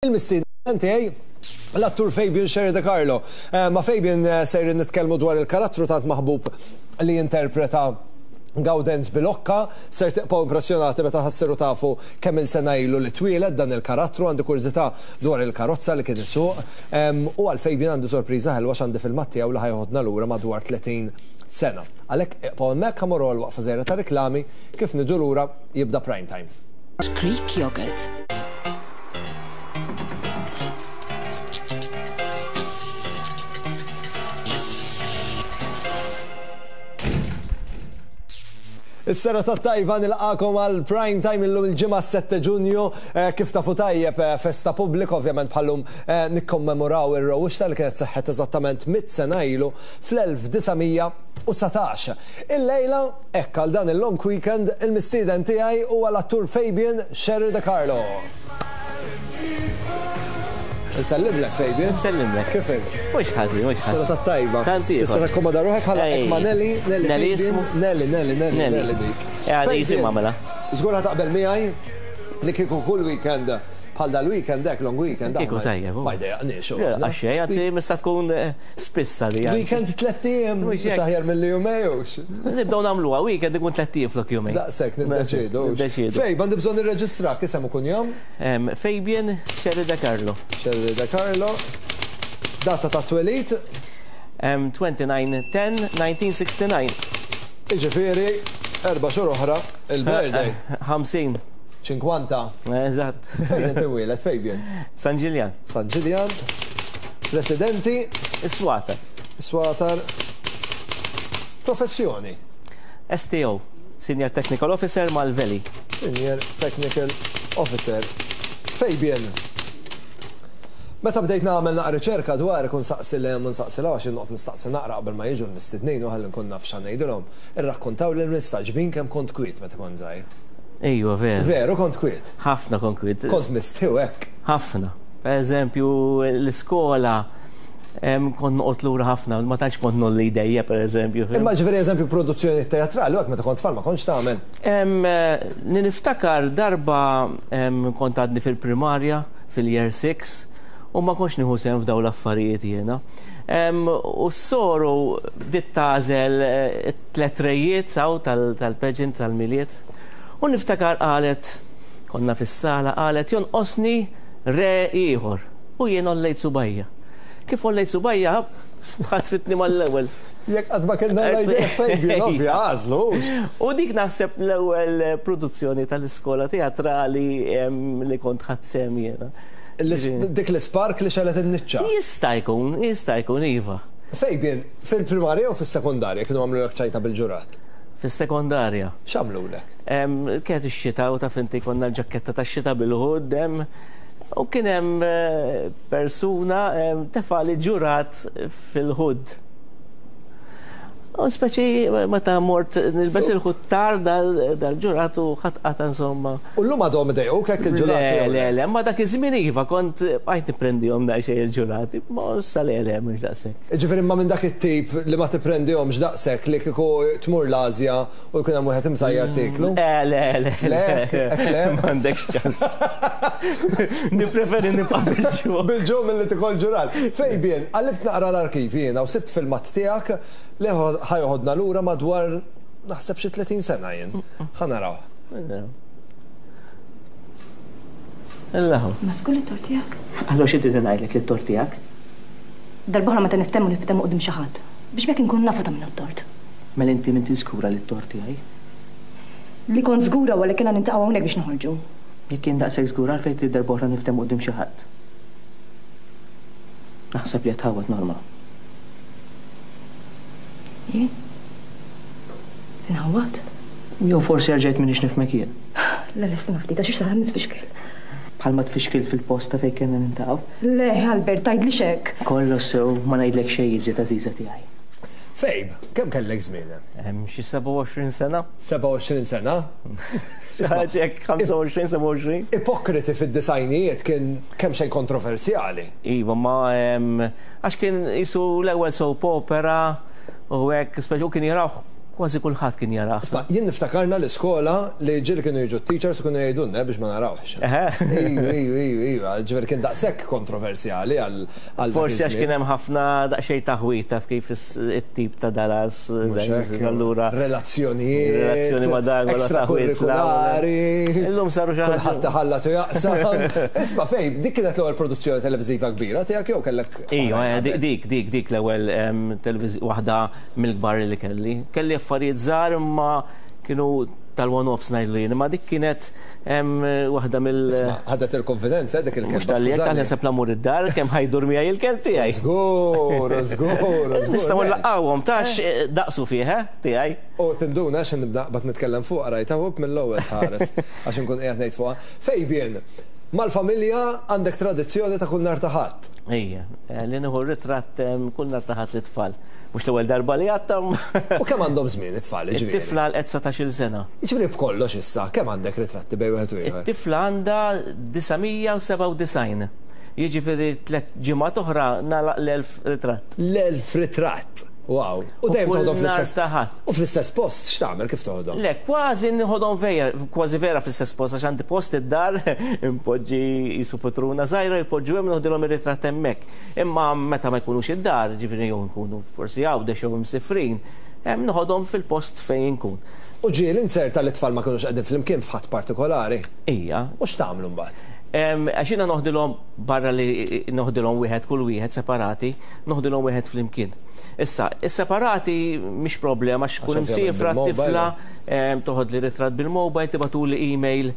Il-mistieden tiegħi l-attur Fabian Scerri De Carlo. Ma' Fabian sejrin nitkellmu dwar il-karattru tant maħbub li jinterpreta Gawdenz Bilocca. Ser tibqgħu impressjonati meta ħa ssiru tafu kemm-il sena ilu li twieled dan il-karattru. Għandi kurżità dwar il-karozza li kien isuq. U għal Fabian għandi sorpriża ħelwa x'għandi filmat tiegħu li ħa joħodna lura madwar 30 sena. Għalhekk iqbgħu hemmhekk ħa mmorru għal waqfa żgħira ta' riklami kif niġu lura jibda Prime Time. Greek yogurt. Is-sena ta' tajba nilqakom għal prime time illum il-ġimgħa 7 Ġunju eh, kif tafu tajjeb eh, festa pubblika ovvjament bħallum eh, nikkommemoraw ir-rewwixta li kienet seħħet eżattament mit sena ilu fl-1919. Illejla Hekk għal dan il-long weekend, il-mistieden tiegħi huwa l-attur Fabian Scerri De Carlo. Nsellimlek Fabian. Nsellimlek. Kif int? Mhux ħażin, mhux ħażin. Sena tat-tajba. Tant ieħor. Tista' takkomoda ruħek ħa nlaqqgħek ma' Nelly, Nelly Nelly Fabian, ismu? Nelly, Nelly, Nelly, Nelly dik. Għadi jisimha mela. Żgur ħa taqbel miegħi li kieku kull weekend bħal dal-weekend hekk long weekend. Kieku tajjeb. Ma jdejjaqniex. Għax xejn, anzi mista tkun Spissa li. Weekend tlett ijiem, mhux aħjar milli jumej hux. Nibdew nagħmluha, weekend ikun tlett ijiem flok jumej. Daqshekk niddeċiedu. Niddeċiedu. Fejb, għandi bżonn nirreġistrak, isem u kunjom? Fabian Scerri De Carlo. Scerri De Carlo. Data ta' twelid? 29 10 1969. Jiġifieri, erba' xhur oħra, il-birthday. 50. 50. Eżatt. Fejn inti mwieled, Fabian? San Ġiljan. San Ġiljan. Residenti. Is-Swatar. Is-Swatar. Professjoni. STO, Senior Technical Officer mal-Veli. Senior Technical Officer. Fabian. Meta bdejt nagħmel naqra riċerka dwarek u nsaqsi 'l hemm u nsaqsi 'l hawn għax jien noqgħod nistaqsi naqra qabel ma jiġu l-mistednin u ħalli nkun naf x'għa ngħidilhom, irrakkontawli l-mistagħġbin kemm kont kwiet meta kont żgħir. Ejwa veru. Veru kont kwiet. Ħafna kont kwiet. Kont mistħi u hekk. Ħafna. Per eżempju, l-iskola kont noqgħod lura ħafna, ma tantx kont nolli jdejja per eżempju. Imma ġifieri eżempju produzzjoni teatrali u hekk meta kont tfal ma kontx tagħmel? Li niftakar darba kont għadni fil-primarja, fil-year 6, u ma kontx nieħu sehem f'dawn l-affarijiet jiena. U s-soru bdiet tagħżel it-tlet rejiet hawn tal-pageant tal-Milied. U niftakar qalet, konna fis-sala, qalet jonqosni re ieħor. U jien għollejt subgħajja. Kif għollejt subgħajja, ħatfitni mal-ewwel. Jekk qatt ma kellna l-idea Fabian, ovvja, għażlu hux. U dik naħseb l-ewwel produzzjoni tal-iskola teatrali li kont ħadt sehem jiena. Dik l-ispark li xegħlet in-niċċa. Jista' jkun, jista' jkun, iva. Fabian, fil-primarja jew fis-sekondarja kienu għamlulek ċajta bil-ġurat? Fis-sekondarja. X'għamlulek? Kienet ix-xita u taf inti konna l-ġakketta tax-xita bil-hood hemm u kien hemm persuna tefagħli ġurat fil-hood. U speċi meta mort nilbes il-hood tar dal-ġurat u ħadd qata' insomma. U llum għadhom idejquk hekk il-ġurati? Le, le, le, ma dak iż-żmien iva kont bqajt nipprendihom daqsxejn il-ġurati, ma issa le, le, mhux daqshekk. Jiġifieri imma minn dak it-tip li ma tipprendihomx daqshekk li kieku tmur l-Asja u jkun hemm wieħed imsajjar tieklu? Le, le, le. Le, hekk le? M'għandekx ċans. Nippreferi nibqa' bil-ġuħ. Bil-ġuħ milli tikol ġural. Fabian, qallibt naqra l-arkivji jiena u sibt filmat tiegħek li ħa joħodna lura madwar naħseb xi 30 sena jien. Ħa narawh. Illa hu. Ma żgur li t-tort tiegħek? Allura xi trid ngħidlek li t-tort tiegħek? Darb'oħra meta niftehmu niftehmu quddiem xi ħadd, biex b'hekk inkunu nafu ta' min hu t-tort. Mela inti m'intix żgura li t-tort tiegħi? Li kont żgura huwa li kellna niltaqgħu hawnhekk biex noħorġu. Jekk jien daqshekk żgura għalfejn trid darb'oħra niftehmu quddiem xi ħadd? Naħseb li qed tħawwad Norma. Jien? Inħawwad? Jew forsi erġajt m'iniex nifhmek jien. Le, le, stenna ftit, għax issa nitfixkel. Bħalma tfixkilt fil-post ta' fejn kellna niltaqgħu. Le, Albert, tgħidlix hekk. Kollox sew, ma ngħidlek xejn iżjed għażiża tiegħi. Fejb, kemm kellek żmien hemm? Xi 27 sena. 27 sena? Xi ħaġa hekk, 25, 27. Ipokriti fid-disgħinijiet kien kemxejn kontroversjali. Iva, ma għax kien qisu l-ewwel soap opera u hekk, speċi u kien jarawh. Kważi kulħadd kien jarah. Isma', jien niftakarna l-iskola li ġieli kienu jiġu t-teachers u kienu jgħidulna biex ma narawhx. Iju, iju, iju, iju, ġifieri kien daqshekk kontroversjali għal dak iż-żmien. Forsi għax kien hemm ħafna daqsxejn taħwid taf kif it-tip ta' Dallas. Mhux hekk. Allura. Relazzjonijiet. Relazzjoni ma' dak, ma' taħwid. Extrakurrikulari. Illum saru xi ħaġa. Kulħadd iħallat u jaqsam. Isma' fejn, dik kienet l-ewwel produzzjoni televiżiva kbira tiegħek jew kellek. Iju, dik, dik, dik l-ewwel waħda mill-kbar li kelli. Kelli affarijiet żgħar imma kienu tal-one-offs ngħidlu jien, imma dik kienet waħda mill- Isma', ħadet il-konfidenza dik il-kelba. Mhux talli hekk aħna sepp lamur id-dar kemm ħajdur miegħi il-kelb tiegħi. Żgur, żgur, żgur. Nistgħu nlaqqgħuhom tax daqsu fih, eh, tiegħi. U tinduna x'ħin nibda naqbad nitkellem fuqha rajtha hu mill-ewwel tħares għax inkun qiegħed ngħid fuqha. Fabian, mal-familja għandek tradizzjoni ta' kull nhar ta' Ħadd. Ejja, li nieħu ritratt kull nhar ta' Ħadd lit-tfal. Mhux l-ewwel darba li għadtha. U kemm għandhom żmien it-tfal, jiġifieri? It-tifla għalqet 19-il sena. Jiġifieri b'kollox issa, kemm għandek ritratti bejn wieħed u ieħor? It-tifla għandha 997. Jiġifieri tliet ġimgħat oħra nagħlaq l-1000 ritratt. L-1000 ritratt! Wow! U dejjem toħodhom fl-istess. Ta' Ħadd. U fl-istess post x'tagħmel kif toħodhom? Le, kważi nħodhom vera, kważi vera fl-istess post għax għandi post id-dar, inpoġġi qisu putruna żgħira jpoġġu hemm noħdilhom ir-ritratt hemmhekk. Imma meta ma jkunux id-dar, ġifieri jew nkunu forsi Għawdex jew imsifrin, noħodhom fil-post fejn inkun. U ġieli nzerta li t-tfal ma kinux qegħdin flimkien f'Ħadd partikolari? Ija. U x'tagħmlu mbagħad? Għax jiena noħdilhom barra li noħdilhom wieħed kull wieħed separati, noħdilhom wieħed flimkien. Issa, is-separati mhix problema għax tkun imsiefra t-tifla, toħodli ritratt bil-mobile, tibgħatuli email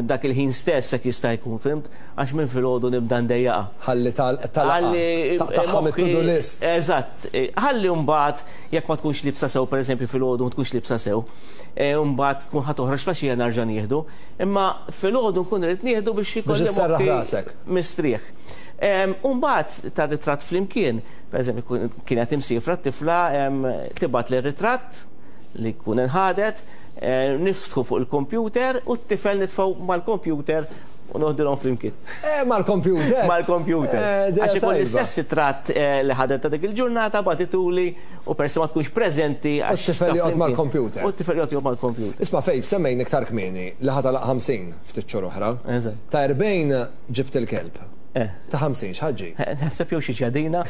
dak il-ħin stess hekk jista' jkun, fhimt? Għax minn filgħodu nibda ndejjaqha. Ħalli tagħlaqha. Taqtagħha mit-to-do list. Eżatt. Ħalli mbagħad jekk ma tkunx liebsa sew, pereżempju filgħodu ma tkunx liebsa sew, mbagħad tkun ħa toħroġ flaxija nerġa' nieħdu. Imma filgħodu nkun irrid nieħdu biex ikolli moħħi mistrieħ. U mbagħad tar-ritratt flimkien, pereżempju kienet imsiefra t-tifla, tibgħatli r-ritratt li jkun inħadet, niftħu fuq il-kompjuter u t-tifel nitfgħu mal-kompjuter u noħdilhom flimkien. Eh, mal-kompjuter? Mal-kompjuter. Għax ikun l-istess ritratt li ħadet ta' dik il-ġurnata bagħtituli u peress ma tkunx preżenti. U t-tifel joqgħod mal-kompjuter. U t-tifel joqgħod mal-kompjuter. Isma' Fejb, semmejna iktar kmieni li ħa tagħlaq 50 ftit xhur oħra. Eżatt. Ta' 40 ġibt il-kelb. Ta' 50 x'ħa ġġib? Naħseb jew xi ġadina.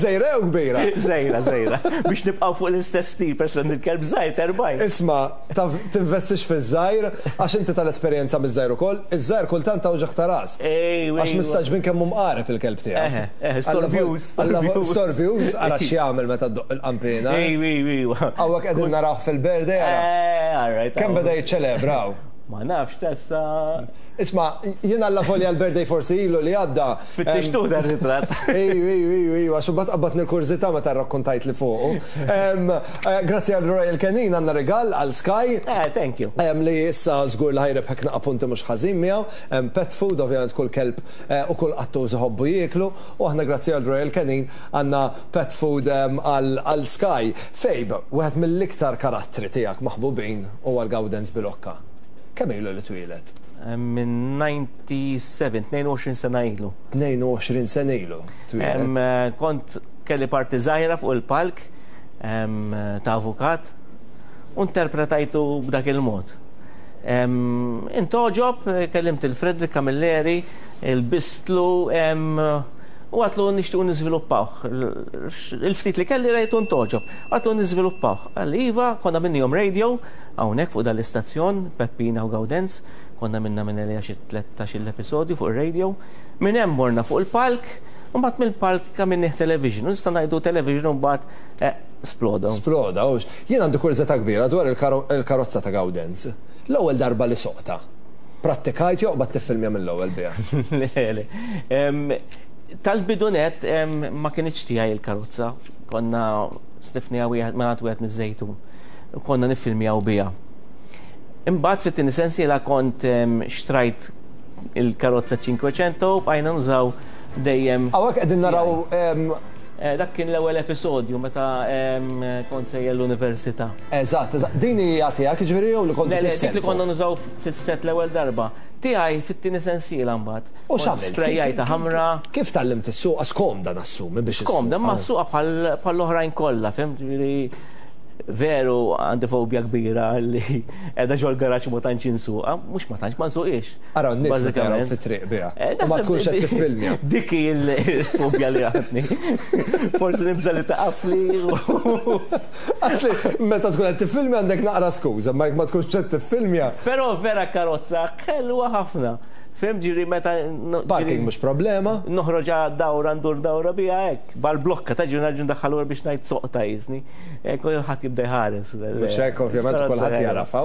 Żgħira jew kbira? Żgħira, żgħira. Biex nibqgħu fuq l-istess stil, peress li il-kelb żgħir ta' 40. Isma', tinvestix fiż-żgħir għax inti tal-esperjenza miż-żgħir ukoll, iż-żgħir kultant ta' uġigħ ta' ras. Għax mistagħġbin kemm hu mqareb il-kelb tiegħek. Eħe, storbjuż. Storbjuż, ara x'jagħmel meta ddoqq il-qanpiena. Ejwa, ejwa. Hawnhekk qegħdin narawh fil-birthday ara. Kemm beda jiċċelebra hawn. Ma nafx tessa. Isma', jien allavolja l-birthday forsi ilu li għadda. Fittixtuh dan ir-ritratt. Iju, iju, iju, iju, għax imbagħad qabadni l-kurżità meta rrakkontajtli fuqu. Grazzi għal Royal Canin għandna rigal għal Sky. Eh, thank you. Li issa żgur li ħa jrebħek naqa' punti mhux ħażin miegħu. Pet food, ovvjament kull kelb u kull qattus iħobbu jieklu. U aħna grazzi għal Royal Canin għandna pet food għal Sky. Fabe, wieħed mill-iktar karattri tiegħek maħbubin huwa l-Gawdenz Bilocca. Kemm ilu li twieled? Minn 97, 22 sena ilu. 22 sena ilu twieled. Kont kelli parti żgħira fuq il-palk ta' avukat u interpretajtu b'dak il-mod. Intgħoġob, kellimt il Frederick Camilleri, lbistlu u għatlu nixtiequ niżviluppawh. Il-ftit li kelli rajtu ntgħoġob. Għatlu niżviluppawh. Qalli iva, konna minnihom radio hawnhekk fuq dan l-istazzjon, Peppina u Gawdenz, konna minna minn għalija xi 13-il episodju fuq ir-radio. Minn hemm morna fuq il-palk, u mbagħad mill-palk għamilnieh television. U nista' ngħidu television u mbagħad eh, sploda. Sploda, hux. Jien għandi kurżità kbira dwar il-karozza ta' Gawdenz. L-ewwel darba li soqtha, prattikajt jew qbadt tiffilmja mill-ewwel biha? Le, le. Tal-bidu nett ma kinitx tiegħi il-karozza. Konna stifniha wieħed mingħand wieħed miż-Żejtun. U konna niffilmjaw biha. Imbagħad fit-tieni sensiela kont xtrajt il-karozza 500 u bqajna nużaw dejjem. Hawnhekk qegħdin naraw Dak kien l-ewwel episodju meta kont sejjer l-università. Eżatt, eżatt. Din hija tiegħek jiġifieri jew li kontu Le, le, dik li konna nużaw fis-set l-ewwel darba. Tiegħi fit-tieni sensiela mbagħad. U x'għamilt? Sprejjajtha ħamra. Kif tgħallimt issuqha? Skomda nassumi biex issuqha. Skomda, imma ssuqha bħall-oħrajn kollha, fhimt? Jiġifieri. Veru għandi fobja kbira li qiegħda ġol-garaġġ ma tantx insuqha, mhux ma tantx ma nsuqhiex. Araw n-nies meta jaraw fit-triq biha. Eh, u ma tkunx qed tiffilmja. Dik hi l-fobja li għandni. Forsi nibża' li taqafli. Għax li meta tkun qed tiffilmja għandek naqra skuża, ma jekk ma tkunx qed tiffilmja. Però vera karozza ħelwa ħafna. Fhimt ġieli meta. Parking mhux problema. Noħroġ dawra ndur dawra biha hekk. Bal-blokka ta' ġieli nerġa' ndaħħal lura biex ngħid soqta jisni. Kulħadd jibda jħares. Mhux hekk ovvjament kulħadd jarafha.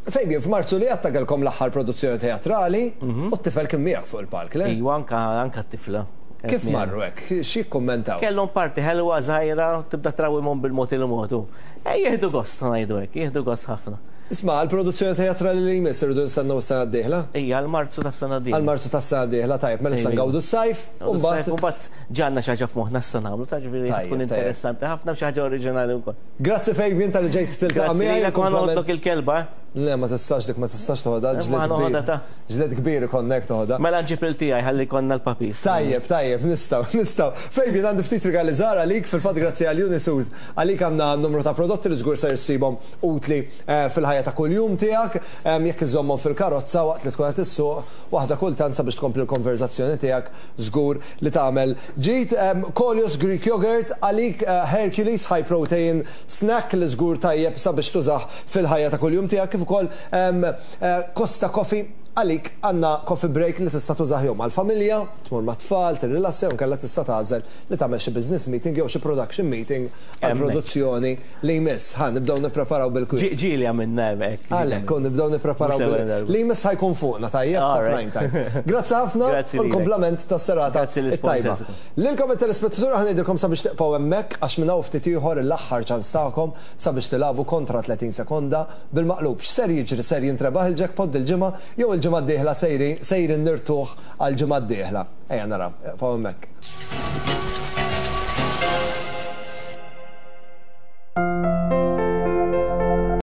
Fabian, f'Marzu li għadda kellkom l-aħħar produzzjoni teatrali u t-tifel kien miegħek fuq il-palk, le? Iva, anka t-tifla. Kif marru hekk? X'jikkummentaw? Kellhom parti ħelwa żgħira tibda trawwimhom bil-mod il-mod. Eh, jieħdu gost ngħidu hekk, jieħdu gost ħafna. Isma', għall-produzzjoni teatrali li jmiss irridu nistennew is-sena d-dieħla? Ija, għal Marzu tas-sena d-dieħla. Għal Marzu tas-sena d-dieħla, tajjeb, mela issa ngawdu s-sajf, u mbagħad. U mbagħad ġa għandna xi ħaġa f'moħħna issa nagħmlu, ta' ġifieri tkun interessanti ħafna u xi ħaġa oriġinali wkoll. Grazzi Fabian talli ġejt tiltaqa' miegħi. Grazzi lilek u ħa noħodlok il-kelba, eh. Le, ma tistax dik ma tistax toħodha, ġlied kbir. Ġlied kbir ikollna jekk toħodha. Mela nġib lil tiegħi ħalli jkollna l-puppies. Tajjeb, tajjeb, nistgħu, nistgħu. Fabian għandi ftit rigali żgħar għalik, fil-fatt grazzi għal Unisud għalik għandna numru ta' prodotti li żgur ser issibhom utli fil-ħajja ta' kuljum tiegħek, jekk iżżommhom fil-karozza waqt li tkun qed issuq, waħda kultant sabiex tkompli l-konverżazzjoni tiegħek żgur li tagħmel ġid. Kolios Greek Yogurt għalik Hercules High Protein Snack li żgur tajjeb sabiex tużah fil-ħajja ta' kuljum tiegħek kif ukoll Costa Coffee għalik għandna coffee break li tista' tużah jew mal-familja, tmur mat-tfal, tirrilassa jew inkella tista' tagħżel li tagħmel xi business meeting jew xi production meeting għall-produzzjoni li jmiss. Ħa nibdew nippreparaw bil-kwiet. Ġieli għamilna hekk. Għalhekk, u nibdew nippreparaw bil Li jmiss ħa jkun fuqna tajjeb ta' prime time. Grazzi ħafna u l-kumplament tas-serata t-tajba. Lilkom it-telespettaturi ħa ngħidilkom sabiex tibqgħu hemmhekk għax minn hawn ftit ieħor l-aħħar ċans tagħkom sabiex tilagħbu kontra 30 sekonda bil-maqlub. X'ser jiġri? Ser jintrebaħ il-jackpot dil-ġimgħa jew il-ġimgħa d-dieħla sejrin nirtuh għall-ġimgħa d-dieħla? Ejja naraw. Ibqgħu hemmhekk.